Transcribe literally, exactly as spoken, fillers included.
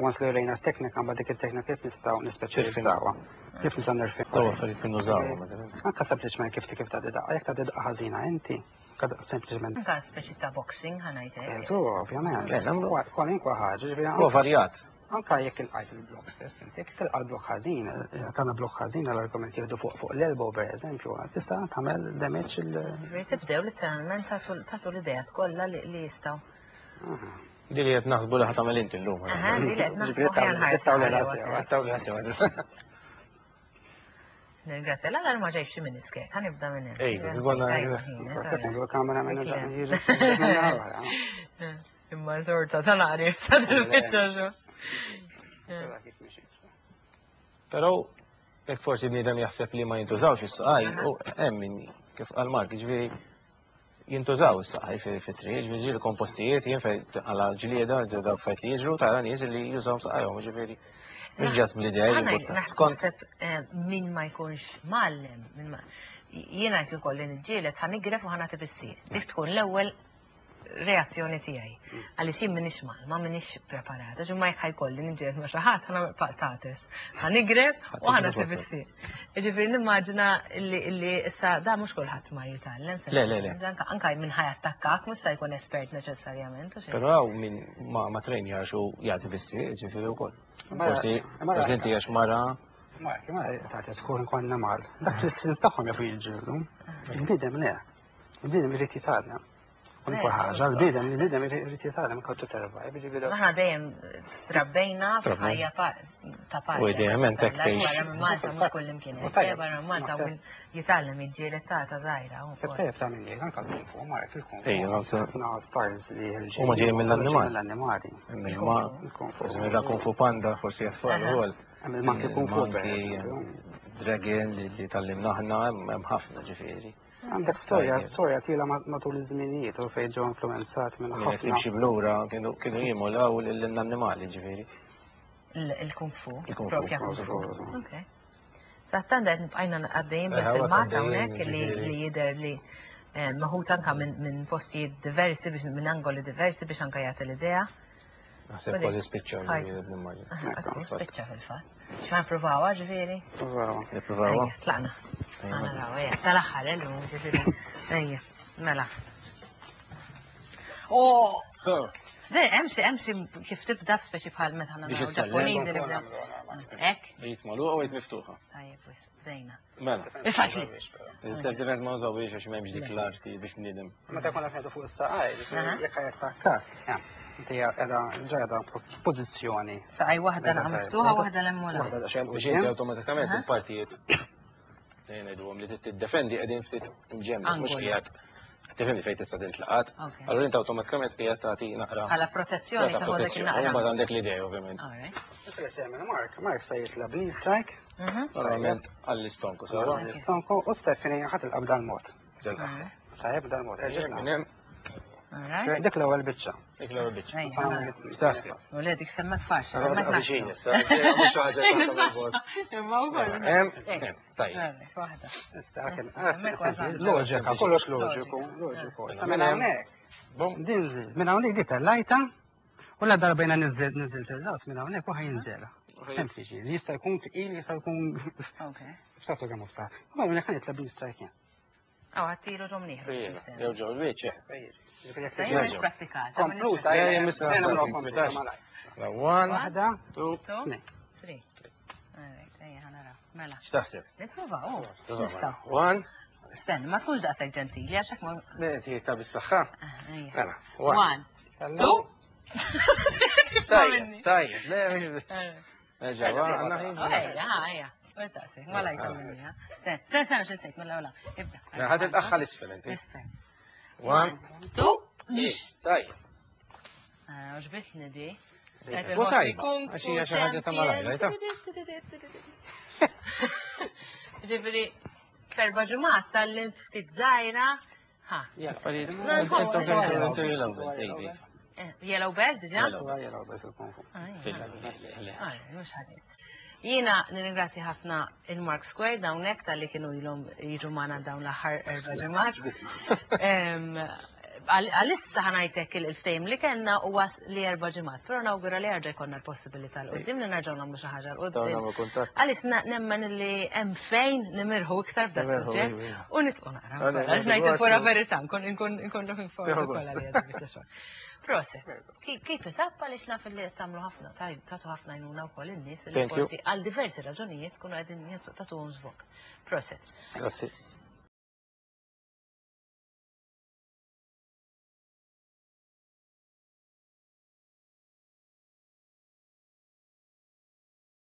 Once li rejna t-teknika, mbagħad dik it-teknika kif nistgħu nispeċjalizzawha. Kif nistgħu nirfin. Daw affarijiet nużawhom. Anka sempliċement kif kif ta' daqqa, jekk ta' daqqa ħażina inti, anka sempliċement. Anka speċi ta' boxing ħa ngħidlek. Eżu, ovvjament. Le, nagħmlu- Kwalinkwa ħaġa, ġifieri Huwa varjat. Anka jekk ilqajt il-blok stess, inti jekk tilqa' l-blok ħażin, tagħmel blok ħażin għall-argument jieħdu fuq fuq l-elbow per eżempju, tista' tagħmel damage il. Ġifieri tibdew literalment tagħtu l-idejat kollha li li jistgħu. Di li qed naħsbu li ħa tagħmel inti llum. Aha, di li qed naħsbu ħa nħarsu. Tawli ħasew. Nirringrazzja, l ma ġejx xi miniskirt, ħa nibda minn hemm. Ej, konna- Tajba ħin, Għandu kamera minn Ekle. Imma sorta tal-għari, sa dil-bicċa xo. Però jekk forsi bniedem jaħseb li ma jintużawx is-saqaj, u hemm min kif qal Mark, ġifieri jintużaw is-saqaj fi triq, ġifieri ġieli kompostijiet, jien fejn għala ġlieda, daw affarijiet li jiġru, tara nies li jużaw saqajhom, ġifieri mhux ġas bl-idea Ħa li skont naħseb eh, min ma jkunx mgħallem, min ma jiena jekk ikolli niġġieled ħa nigref u ħa nagħti bis-sieq. Dik tkun l-ewwel reazzjoni tiegħi. Għaliex jien m'iniex mal, ma m'iniex preparata, ġu ma jekk ħa jkolli niġġieled ma' xi ħadd ħa nagħmel paqtates. Ħa nigref u ħa nagħti bis-sieq. Ġifieri nimmaġina li li issa da mhux kulħadd ma jitgħallem. Le, le, le. Anka anka min ħa jattakkak mhux se jkun espert neċessarjament. u xejn. Però hawn min ma ma trejnjax u jagħti bis-sieq, ġifieri wkoll. Forsi forsi inti għax mara Mark, ma ta' tkun konna mal. Dak fl-istin tagħhom jafu jiġġieldu. Il-bniedem le. Il-bniedem irid jitgħallem. Kwalunkwe ħaġa, l-bniedem il-bniedem irid jitgħallem how to survive. Ġifieri Aħna dejjem trabbejna f'ħajja pa- ta' paċi. U idealment hekk tgħix. Barra minn Malta mhux kull imkien. U tajjeb, Barra minn Malta naħseb- min jitgħallem jiġġieled ta' ta' żgħira. Seb tajjeb ta' minni, anka l-kung fu, Mark, il-kung fu. Ejja, naħseb- Ħafna styles li ħelġin. Huma ġejjin mill-annimali. Mill-annimali. il-ma Il-kung fu. forsi minn Kung Fu Panda, forsi jatfall Aha. ukoll. Hemm il-monkey kung fu, per Monkey, eżempju. Dragon li li tgħallimna aħna hemm hemm ħafna ġifieri. Għandek storja, Tajjeb. storja twila ma- matul iż-żminijiet u fejn ġew influenzat minn Min qed ħafna. timxi blura kienu kienu jimulaw lill-annimali ġifieri. Il-kung fu. Il-kung fu, Propja kung kung fu. fu. Ok. Sattan qed bqajna għaddejjin Eh, bil-filmat għaddejjin, hawnhekk li ġifieri. li jidher li eh, meħud anka minn minn postijiet diversi biex minn angoli diversi biex anka jagħti l-idea. Naħseb kważi spiċċaw Tajt. nimmaġina. Spiċċa fil-fatt. X'ma nippruvawha ġifieri? Bravo. Nippruvawha. Ejja, tlaqna. Ejja. Naraw, ejja, tal-aħħar illum ġifieri. Ejja, mela. Oh! Le, hemm xi hemm xi kif tibda f'speċi bħal meta Biex naraw issellem. Ġappuniżi li bdew. Hekk? Id magħluqa u id miftuħa. Tajjeb, wis, bdejna. Mela. Faċli. Il-self defense ma użaw biex għax m'hemmx dik l-arti biex bniedem. Meta konna qed fuq is-saqaj, Aha. jekk ħa jattakkak, inti qiegħda ġejda pożizzjoni. Saqaj waħda naqa' miftuħa, waħda l-emmula. Waħda daqsxejn Biex inti awtomatikament Aha. il-partijiet ngħiduhom li tiddefendi qegħdin ftit imġemma, mhux Angoli. qiegħed tifhimni fejn tista' tintlaqat. Ok. Allura inti awtomatikament qiegħed tagħti naqra. Bħala protezzjoni ta' ta' dik protezzjoni. il-naqra. Mbagħad għandek l-idea ovvjament. All right. Issa li se jagħmel Mark, Mark se jitla' knee strike, Mhm. Normalment għall-istonku, sewwa? l-istonku u Stephanie ħa tilqa' b'dal-mod. Ġel-aħħar. Tajjeb b'dal-mod, erġa' Minn hemm, All right. Dik l-ewwel biċċa. dik l-ewwel biċċa. Ejja, mela. X'taħseb? U le dik semmek faċli, semmek Viċin, naħsbu. issa, mhux xi ħaġa ta' Imma wkoll. Hemm, hemm, tajjeb. Għalek, waħda. Issa kien Hemmhekk wasalna. loġika, kollox loġiku, loġiku. Issa minn hawnhekk. Bum. Dinżil, minn hawnhekk di tellajta u la darba jiena niżżil niżilt ir-ras minn hawnhekk u ħa jinżel. Sempliċi, jista' jkun tqil, jista' jkun Ok. b'saħħtu kemm hu b'saħħtu. Ma hawnhekk ħa nitla' knee strike jien. Aw, għattilu ġomniħ. Jew ġew il-wiċċ. Sejjer pratikata. Kompluta, Ja, ja, missa Ejja nagħmluha nagħmlu kompluta malajr. One, Waħda, two, Two, tnejn. three. All right, ejja, ħa naraw. Mela. X'taħseb? Nipprova, oh, nistgħu. One, Stenni, ma tkunx daqshekk ġentili, għax hekk ma. le, ta' bis-saħħa. Ah, ejja. Mela, one. One, two. Tajjeb, tajjeb, le, Nerġa' għandna ħin. Ejja, ejja. Mhux daqshekk, ma la jkolli. Stenni, stenni, stenni, x'nsejt, mela wala. Ibda. Mela, ħa tilqagħha l-isfel inti. Isfel. One, Two. tajjeb. Ah, għoġbitni di. U tajba, għax hija xi ħaġa ta' malajr, rajta? Ġifieri, f'erba' ġimgħat tgħallimt ftit żgħira. Ha. Affarijiet. No, nħoss- Eh, Yellow belt diġà? Yellow. Yellow belt fil-kung fu. Ah, ija. Ah, mhux ħażin. Jiena nirringrazzja ħafna il-Mark Square hawnhekk talli kienu ilhom jiġu magħna dawn l-aħħar erba' ġimgħat. Em, Għalissa ħa ngħidlek il-ftehim li kellna huwa li erba' ġimgħat, però nawgura li jerġa' jkollna l-possibilità 'l quddiem li nerġgħu nagħmlu xi ħaġa 'l quddiem. Għaliex nemmen li hemm fejn nimirħu iktar f'da suġġett u nitqu naqra. Għax ngħid il-pura verità, nkun nkun looking forward ukoll għalija biċċa xogħol. Proset. Keep it up, għaliex naf li qed tagħmlu ħafna, tagħtu ħafna għajnuna wkoll in-nies li forsi għal diversi raġunijiet kunu qegħdin tagħtuhom żvog. Proset. Grazzi.